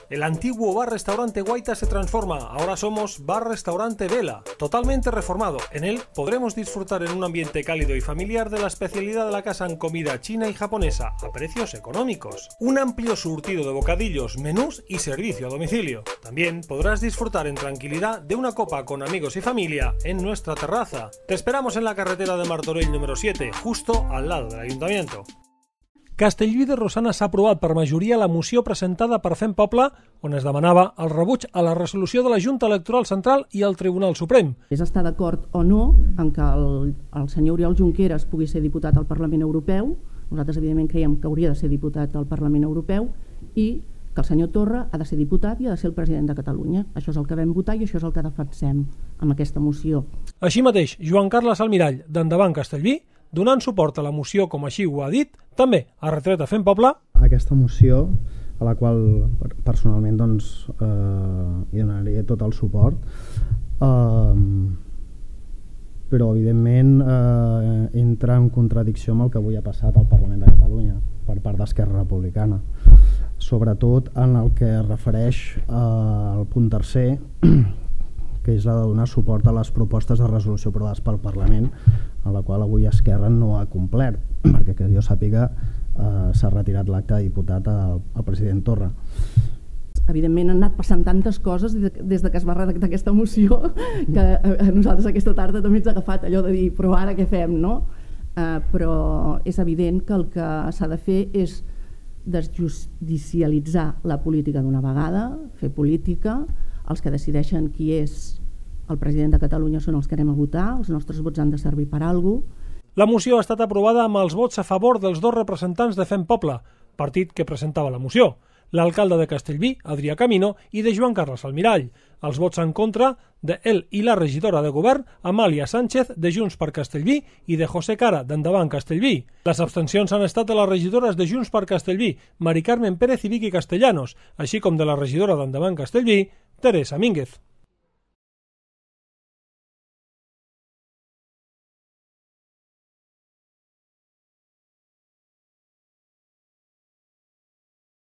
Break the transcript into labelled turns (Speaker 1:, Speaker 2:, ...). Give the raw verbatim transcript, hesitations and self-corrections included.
Speaker 1: El antiguo bar-restaurante Guaita se transforma, ahora somos bar-restaurante Vela, totalmente reformado. En él podremos disfrutar en un ambiente cálido y familiar de la especialidad de la casa en comida china y japonesa, a precios económicos. Un amplio surtido de bocadillos, menús y servicio a domicilio. También podrás disfrutar en tranquilidad de una copa con amigos y familia en nuestra terraza. Te esperamos en la carretera de Martorell número siete, justo al lado del Ayuntamiento. Castellví de Rosanes s'ha aprovat per majoria la moció presentada per Fem Poble, on es demanava el rebuig a la resolució de la Junta Electoral Central i el Tribunal Suprem.
Speaker 2: És estar d'acord o no en que el, el senyor Oriol Junqueras pugui ser diputat al Parlament Europeu. Nosaltres, evidentment, creiem que hauria de ser diputat al Parlament Europeu i que el senyor Torra ha de ser diputat i ha de ser el president de Catalunya. Això és el que vam votar i això és el que defensem amb aquesta moció.
Speaker 1: Així mateix, Joan Carles Almirall, d'Endavant Castellví, donant suport a la moció com així ho ha dit, també ha retret a Fem Poble
Speaker 3: aquesta moció, a la qual personalment doncs, eh, hi donaria tot el suport, eh, però evidentment eh, entra en contradicció amb el que avui ha passat al Parlament de Catalunya per part d'Esquerra Republicana, sobretot en el que es refereix eh, al punt tercer, que és la de donar suport a les propostes de resolució aprovades pel Parlament, a la qual avui Esquerra no ha complert, perquè que jo sàpiga eh, s'ha retirat l'acte de diputat al, al president Torra.
Speaker 2: Evidentment han anat passant tantes coses des de que es va redactar aquesta moció que a nosaltres aquesta tarda també ens ha agafat allò de dir però ara què fem, no? Eh, però és evident que el que s'ha de fer és desjudicialitzar la política d'una vegada, fer política. Els que decideixen qui és el president de Catalunya són els que anem a votar, els nostres vots han de servir per a alguna cosa.
Speaker 1: La moció ha estat aprovada amb els vots a favor dels dos representants de Fem Poble, partit que presentava la moció, l'alcalde de Castellví, Adrià Camino, i de Joan Carles Almirall. Els vots en contra de ell i la regidora de govern, Amàlia Sánchez, de Junts per Castellví, i de José Cara, d'Endavant Castellví. Les abstencions han estat de les regidores de Junts per Castellví, Mari Carmen Pérez i Vicky Castellanos, així com de la regidora d'Endavant Castellví, Teresa Mínguez.